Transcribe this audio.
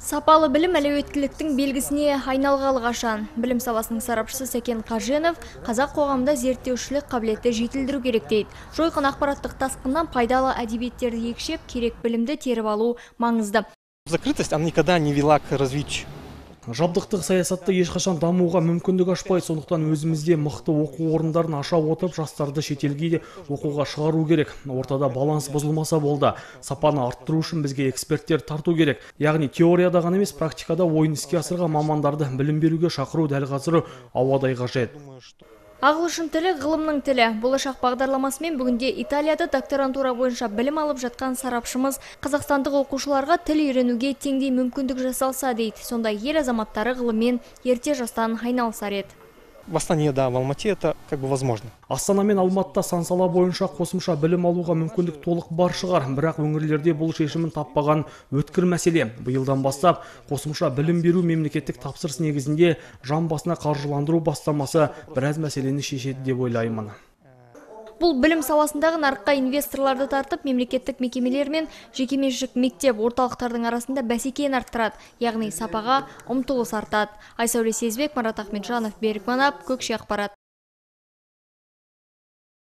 Сапалы білім әлеуеттіліктің белгісіне айналғалы қашан. Білім саласының сарапшысы Сәкен Қаженов қазақ қоғамында зерттеушілік қабілетті жетілдіру керек дейді. Жойқын ақпараттық тасқыннан пайдалы әдебиеттерді екшеп, керек білімді теріп алу маңызды. Закрытость, она никогда не вела к развитию. Жабдықтық саясатты ешқашан дамуға мүмкіндік ашпайды, сондықтан өзімізде мықты оқу орындарын аша отырып, жастарды шетелге де оқуға шығару керек. Ортада баланс бұзылмаса болды. Сапаны арттыру үшін бізге эксперттер тарту керек. Яғни теорияда ғана емес, практикада ойын іске асырған мамандарды білім беруге шақыру дәл қазір ауадай қажет. Ағылшын тілі ғылымның тілі. Болашақ бағдарламасымен бүгінде Италияда докторантура бойынша білім алып жатқан сарапшымыз қазақстандық оқушыларға тіл үйренуге теңдей мүмкіндік жасалса дейді. Сондай ел азаматтары ғылыммен ерте жастан айналысар еді. В Астане, да, в Алмате это как бы возможно. Астана мен Алматыда сан сала бойынша қосымша білім алуға мүмкіндік толық бар шығар, бірақ өңірлерде бұл шешімін таппаған өткір мәселе. Биылдан бастап қосымша білім беру мемлекеттік тапсырыс негізінде жан басына қаржыландыру бастамасы біраз мәселені шешеді деп ойлаймын. Бұл білім саласындағы нарыққа инвесторларды тартып, мемлекеттік мекемелер мен жекеменшік мектеп орталықтардың арасында бәсекені арттырады, яғни сапаға ұмтылыс артады. Айсәуле Сезбек, Марат Ахметжанов, Берік Манап, Көкше ақпарат.